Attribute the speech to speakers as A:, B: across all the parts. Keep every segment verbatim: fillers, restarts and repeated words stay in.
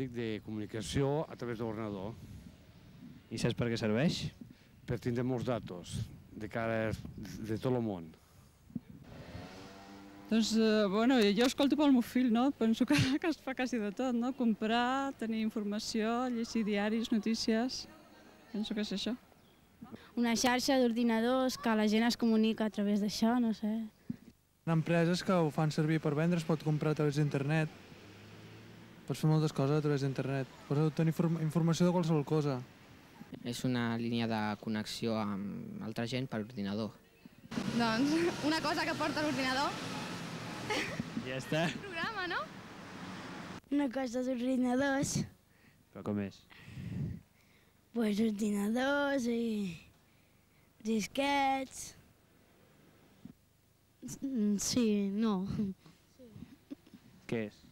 A: tècnic de comunicació a través de l'ordenador.
B: I saps per què serveix?
A: Per tindre molts datos de cara de tot el món.
C: Doncs, eh, bueno, jo escolto pel meu fill, no? Penso que, que es fa quasi de tot, no? Comprar, tenir informació, llegir diaris, notícies... Penso que és això.
D: Una xarxa d'ordinadors que la gent es comunica a través d'això, no sé.
E: Hi ha empreses que ho fan servir per vendre, es pot comprar a través d'internet. Pots fer moltes coses a través d'internet. Pots obtenir informació de qualsevol cosa.
F: És una línia de connexió amb altra gent per ordinador.
G: Doncs una cosa que porta l'ordinador.
B: Ja està.
G: Un programa, no?
D: Una cosa d'ordinadors.
B: Però com és?
D: Pues ordinadors i disquets. Sí, no.
B: Què és?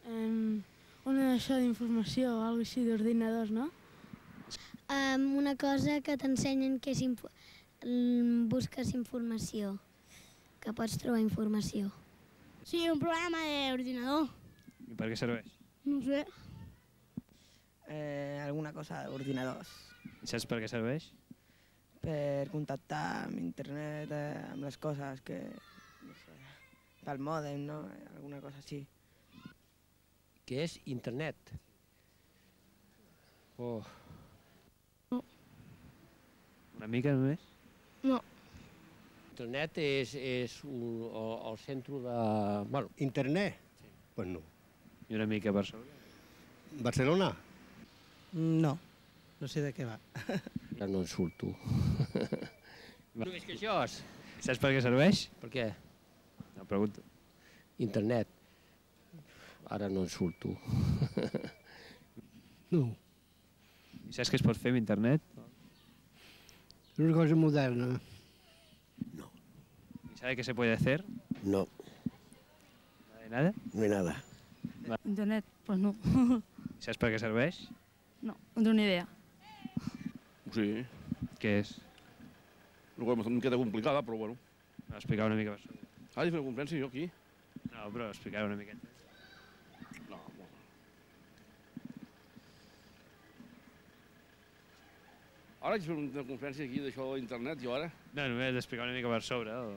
D: Um, una això d'informació, o alguna així d'ordinadors, no?
H: Um, una cosa que t'ensenyen que és info busques informació, que pots trobar informació.
D: Sí, un programa d'ordinador.
B: I per què serveix?
D: No sé.
I: Eh, alguna cosa d'ordinadors.
B: I saps per què serveix?
I: Per contactar amb internet, eh, amb les coses que... no sé, pel mòdem, no? Alguna cosa així.
J: Què és internet? Oh.
D: No.
B: Una mica només?
D: No.
J: Internet és, és un, el, el centre de... Bueno, internet? Sí. Pues no.
B: I una mica per sobre?
J: Barcelona?
I: No, no sé de què va.
J: Ja no en surto. No és que això és...
B: Saps per què serveix?
J: Per què?
B: No, pregunto.
J: Internet. Ara no en surto. No.
B: I saps què es pot fer amb internet?
J: És una cosa moderna. No.
B: ¿Y sabe qué se puede hacer?
J: No.
B: ¿Nada de nada?
J: No hay nada.
C: Internet, pues no.
B: I saps per què serveix?
C: No, no tinc ni idea.
K: Sí.
B: Què és?
K: Una cosa una miqueta complicada, però bueno.
B: Explicar una mica per sobre.
K: Ah, és una conferència jo aquí?
B: No, però explicar una miqueta.
K: No, bueno. Ara haig de fer una conferència aquí d'això d'internet, jo ara?
B: No, només explicar una mica per sobre. O...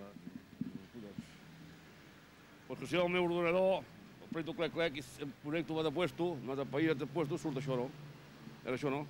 K: Pues que si el meu ordenador, el preto clec clec, i em connecto, va de puesto, no de país, de puesto, surt això, no? Era això, no?